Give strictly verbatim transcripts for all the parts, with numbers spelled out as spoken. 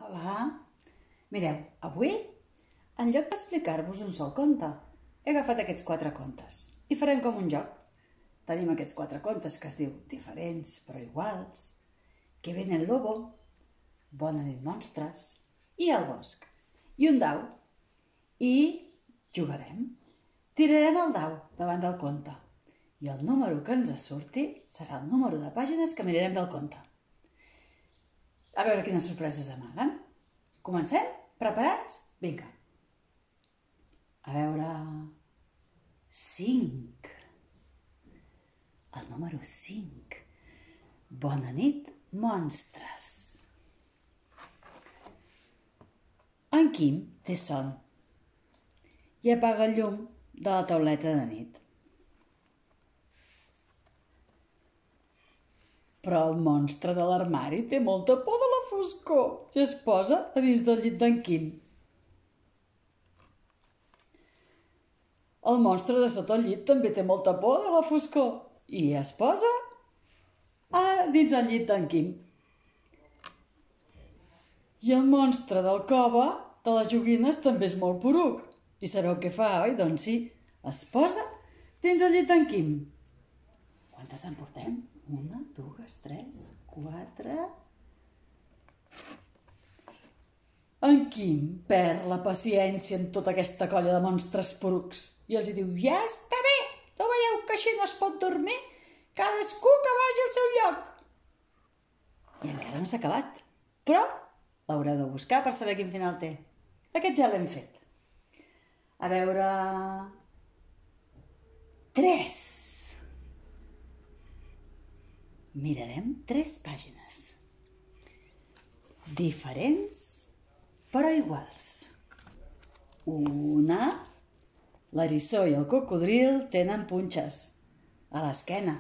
Hola. Mireu, avui, en lloc d'explicar-vos un sol conte, he agafat aquests quatre contes i farem com un joc. Tenim aquests quatre contes que es diu Diferents però iguals, Que viene el lobo, Bona nit monstres i El bosc. I un dau. I jugarem. Tirarem el dau davant del conte i el número que ens surti serà el número de pàgines que mirarem del conte. A veure quines sorpreses amaguen. Comencem? Preparats? Vinga. A veure... cinc. El número cinc. Bona nit, monstres. En Quim té son i apaga el llum de la tauleta de nit. Però el monstre de l'armari té molta por de la foscor i es posa a dins del llit d'en Quim. El monstre de sota el llit també té molta por de la foscor i es posa a dins el llit d'en Quim. I el monstre del cove de les joguines també és molt poruc. I sabeu què fa, oi? Doncs sí, es posa dins el llit d'en Quim. Quantes en portem? Una, dues, tres, quatre... En Quim perd la paciència en tota aquesta colla de monstres porucs i els diu: ja està bé, no veieu que així no es pot dormir? Cadascú que vagi al seu lloc. I encara no s'ha acabat, però l'haureu de buscar per saber quin final té. Aquest ja l'hem fet. A veure... Tres. Mirarem tres pàgines. Diferents però iguals. Una... L'eriçó i el cocodril tenen punxes a l'esquena.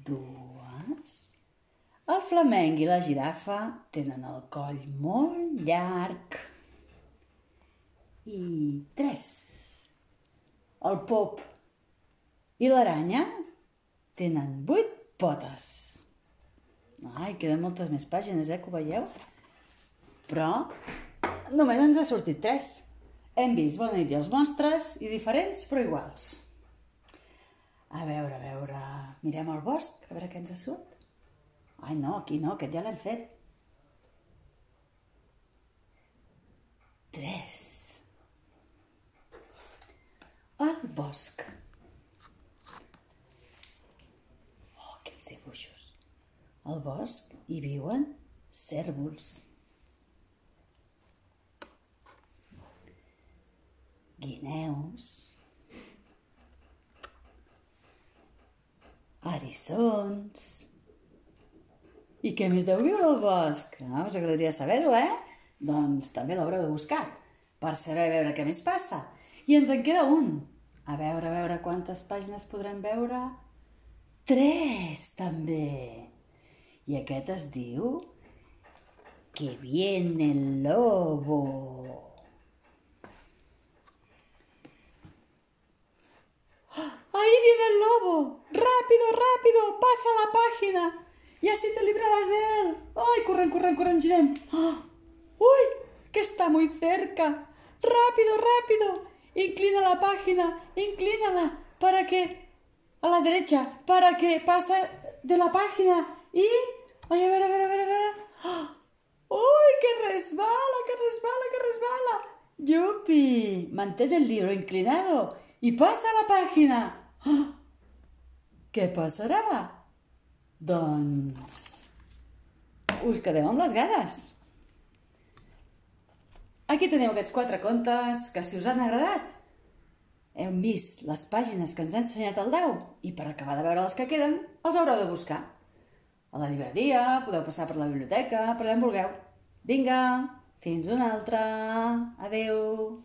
Dues... El flamenc i la girafa tenen el coll molt llarg. I tres... El pop i l'aranya tenen vuit potes. Ai, queden moltes més pàgines, eh, que ho veieu? Però només ens ha sortit tres. Hem vist Bona nit i els monstres i Diferents però iguals. A veure, a veure... Mirem el bosc, a veure què ens surt. Ai, no, aquí no, aquest ja l'hem fet. Tres. El bosc. Oh, quins dibuixos. Al bosc hi viuen cérvols, guineus, eriçons... I què més deu viure al bosc? Ah, us agradaria saber-ho, eh? Doncs també l'haureu de buscar per saber veure què més passa. I ens en queda un. A veure, a veure quantes pàgines podrem veure. Tres, també. I aquest es diu Que viene el lobo. ¡Ahí viene el lobo! ¡Rápido, rápido! ¡Pasa la página! ¡Y así te librarás de él! ¡Ay, corren, corren, corren, girem! ¡Oh! ¡Uy! ¡Que está muy cerca! ¡Rápido, rápido! Inclina la página, inclínala para que... A la derecha, para que pase de la página y... ¡Ay, a ver, a ver, a ver, a ver! ¡Oh! ¡Uy, que resbala, que resbala, que resbala! ¡Yupi! Mantén el libro inclinado y pasa a la página. ¡Oh! Què passarà? Doncs... us quedeu amb les ganes. Aquí teniu aquests quatre contes que, si us han agradat, hem vist les pàgines que ens ha ensenyat el dau i per acabar de veure les que queden els haureu de buscar. A la llibreria, podeu passar per la biblioteca, per allà on vulgueu. Vinga, fins una altra. Adeu.